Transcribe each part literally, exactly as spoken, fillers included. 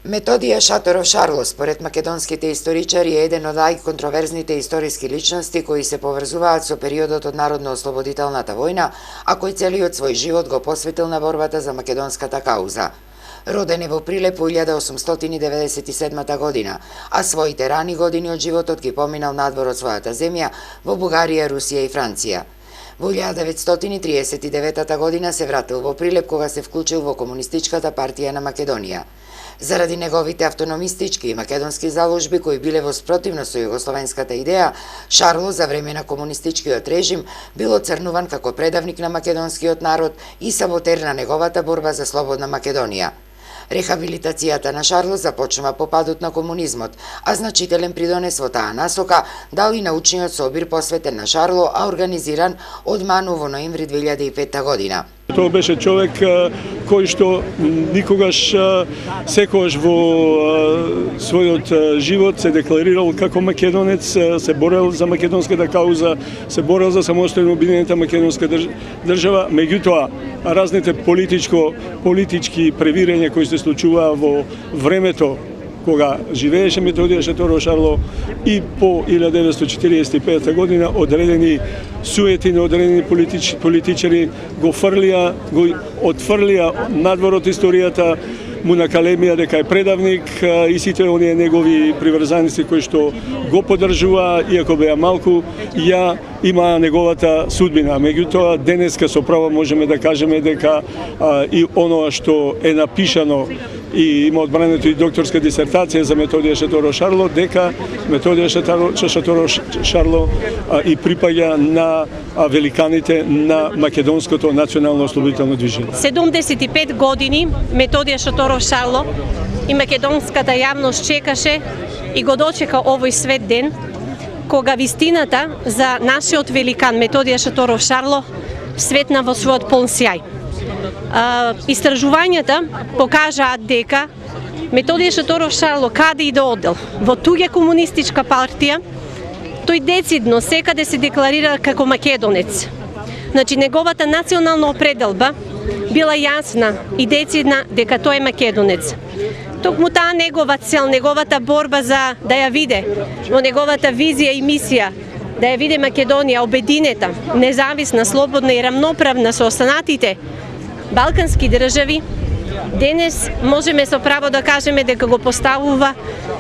Методија Шаторов Шарло, според македонските историчари, е еден од најконтроверзните историски личности кои се поврзуваат со периодот од Народно-ослободителната војна, а кој целиот свој живот го посветил на борбата за македонската кауза. Роден е во Прилеп во илјада осумстотини деветдесет и седма година, а своите рани години од животот ги поминал надвор од својата земја во Бугарија, Русија и Франција. Во илјада деветстотини триесет и девета година се вратил во Прилеп кога се вклучил во Комунистичката партија на Македонија. Заради неговите автономистички и македонски заложби кои биле во спротивност со југословенската идеја, Шарло за време на комунистичкиот режим бил оцрнуван како предавник на македонскиот народ и саботер на неговата борба за слободна Македонија. Рехабилитацијата на Шарло започнува по падот на комунизмот, а значителен придонес во таа насока дал и научниот собир посветен на Шарло, а организиран од МАНУ во ноември две илјади и пета година. Тоа беше човек кој што никогаш, секогаш во својот живот се декларирал како македонец, се борел за македонската кауза, се борел за самостојно обединета македонска држава, меѓутоа разните политичко политички превирања кои се случуваа во времето кога живееше Методија Шаторов Шарло и по илјада деветстотини четиридесет и пета година одредени суети на одредени политич, политичари го фрлија, го отфрлија надвор од историјата, му накалемија дека е предавник и сите оние негови приврзаници кои што го поддржуваа, иако беа малку, ја имаа неговата судбина. Меѓутоа, денеска со право можеме да кажеме дека а, и оноа што е напишано и има одбрането и докторска дисертација за Методија Шаторов Шарло, дека Методија Шаторов Шарло а, и припаѓа на а, великаните на македонското национално ослободително движење. седумдесет и пет години Методија Шаторов Шарло и македонската јавност чекаше и го дочека овој свет ден, кога вистината за нашиот великан Методија Шаторов Шарло светна во својот полн сјај. Uh, истражувањата покажаат дека Методија Шаторов Шарло каде и да одел во туѓа комунистичка партија, тој децидно секаде се декларира како македонец. Значи неговата национална определба била јасна и децидна дека тој е македонец. Токму таа негова цел, неговата борба за да ја виде во неговата визија и мисија, да ја виде Македонија обединета, независна, слободна и рамноправна со останатите балкански држави, денес можеме со право да кажеме дека го поставува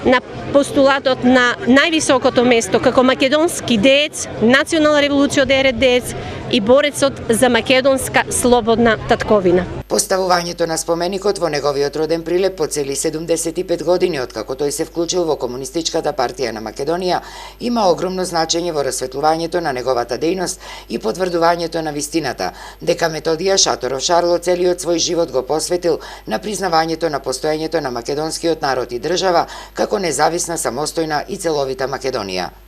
на постулатот на највисокото место како македонски деец, национална револуционерен деец и борецот за македонска слободна татковина. Поставувањето на споменикот во неговиот роден Прилеп по цели седумдесет и пет години откако тој се вклучил во Комунистичката партија на Македонија има огромно значење во расветлувањето на неговата дејност и потврдувањето на вистината дека Методија Шаторов Шарло целиот свој живот го посветил на признавањето на постоењето на македонскиот народ и држава како независна, самостојна и целовита Македонија.